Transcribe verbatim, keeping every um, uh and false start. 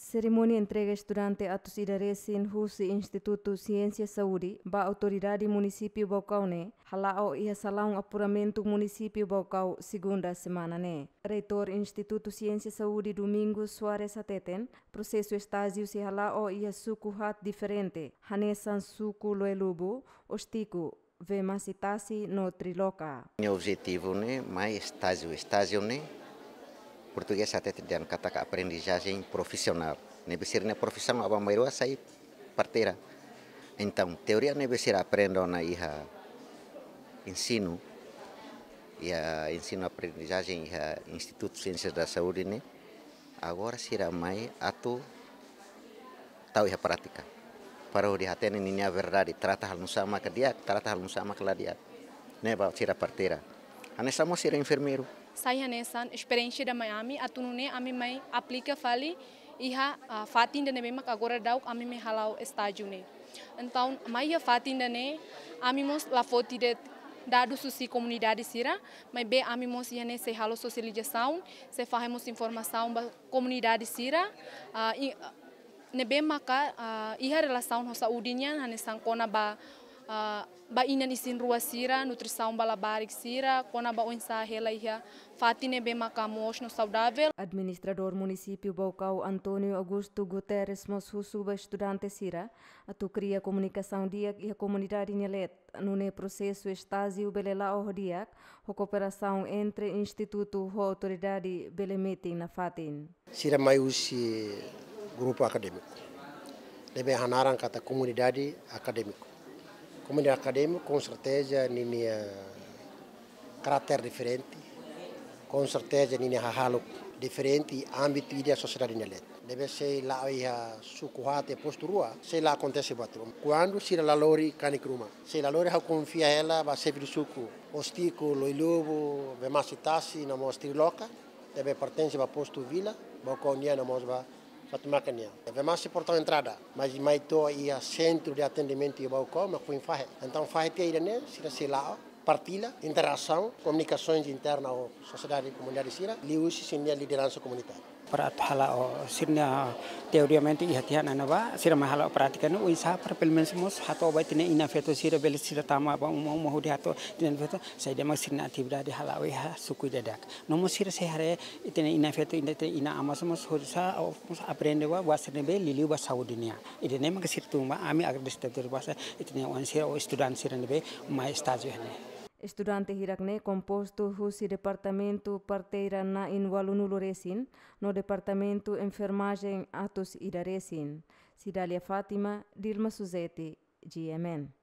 Serimónia entrega estudante atus ida resin husi Institutu Siénsia Saúde ba Autoridade Munisípiu Baucau ne'e hala'o iha salaun apuramentu Munisípiu Baucau, segunda semana ne'e. Reitór Institutu Siénsia Saúde, Domingos Soares, hateten, prosesu estájiu sei hala'o iha suku haat diferente, hanesan suku Loelubu, Ostico, Vemasitasi no Triloca. Nia objetivu ne'e mai estájiu, estájiu ne'e portugés hatete dehan katak aprendizajen profisionál. Ne'ebé sira-nia profisaun aban-bainrua sai parteira. Entaun, teoria ne'ebé sira aprende ona iha ensinu, iha ensinu aprendizajen iha Institutu Siénsia da Saúde ne'e, agora sira mai atu tau iha prátika. Para hodi hatene ninia verdade, trata halo nusá maka di'ak, trata halo nusá maka la di'ak. Ne'e ba sira parteira. Hanesan mós sira enfermeiru. Sai hanesan esperiénsia ida mai ami, atu nune'e ami mai aplika fali iha, ah, fatin ida ne'ebé mak agora daudaun ami mai hala'o estájiu ne'e. Entaun, mai iha fatin ida-ne'e, ami mós la foti de'it dadus husi komunidade sira, maibé ami mós iha ne'e sei halo sosializasaun, sei fahe mós informasaun ba komunidade sira, ah, i, ne'ebé maka, ah, iha relasaun ho saúde nian, hanesan kona-ba, ah, ba inan isin-rua sira, nutrisaun ba labarik sira, kona-ba oinsá hela iha fatin ne'ebé maka moos no saudavel. Administradór Munisípiu Baucau, António Augusto Guterres, mós husu ba estudante sira atu kria komunikasaun di'ak iha komunidade nia leet, nune'e prosesu estájiu bele la'o ho di'ak, ho kooperasaun entre institutu ho autoridade bele metin nafatin. Sira mai husi grupu akadémiku. Ne'ebé hanaran katak komunidade akadémiku. Komunidade akadémiku, com certeza, ninia karáter diferente. Com certeza, ninia hahalok diferente, ámbitu ida sosiedade nia leet. Ne'ebé sei la'o iha suku haat postu rua, sei la akontese buat ruma. Kuandu sira la lori kanek ruma. Sei la lori, ha'u konfia hela ba xefe suku. Ostico, Loelubu, Vemasitasi, no mós Triloca. Ne'ebé pertense ba postu Vila, Baucau nian no mós ba Fatumaka nian. Vemasi portaun entrada, mas mai to'o iha sentru de atendimentu iha Baucau, mak foin fahe. Entaun fahe tiha ida-ne'e, sira sei la'o, partilla, interasaun, komunikasoens interna ho sosiedade komunidade sira, liuhusi sira-nia lideransa komunitária. Para atu hala'o sira-nia teoriamente iha tiha ona ne'ebá, sira mai hala'o prátika ne'e, oinsá para pelumenus mós hato'o ba ita-nia inan-feton sira bele sira tama ba uma-uma hodi hato'o ita-nia inan-feton, saida mak sira-nia atividade hala'o iha suku ida-idak. No mós sira sei haree ita-nia inan-feton, ita-nia inan-aman mós oinsá, mós aprende ba, ba sira ne'ebé liuliu ba saúde nian. Ida-ne'e maka sira tun ba, ami agradese tebes ba sira, ita-nia oan sira ou estudante sira ne'ebé mai estájiu ne'e. Estudante hirak ne'e kompostu husi departamentu parteira na'in ualunulu resin, no departamentu enfermajen atus ida resin. Cidália Fátima, Dilma Suzeti, G M N.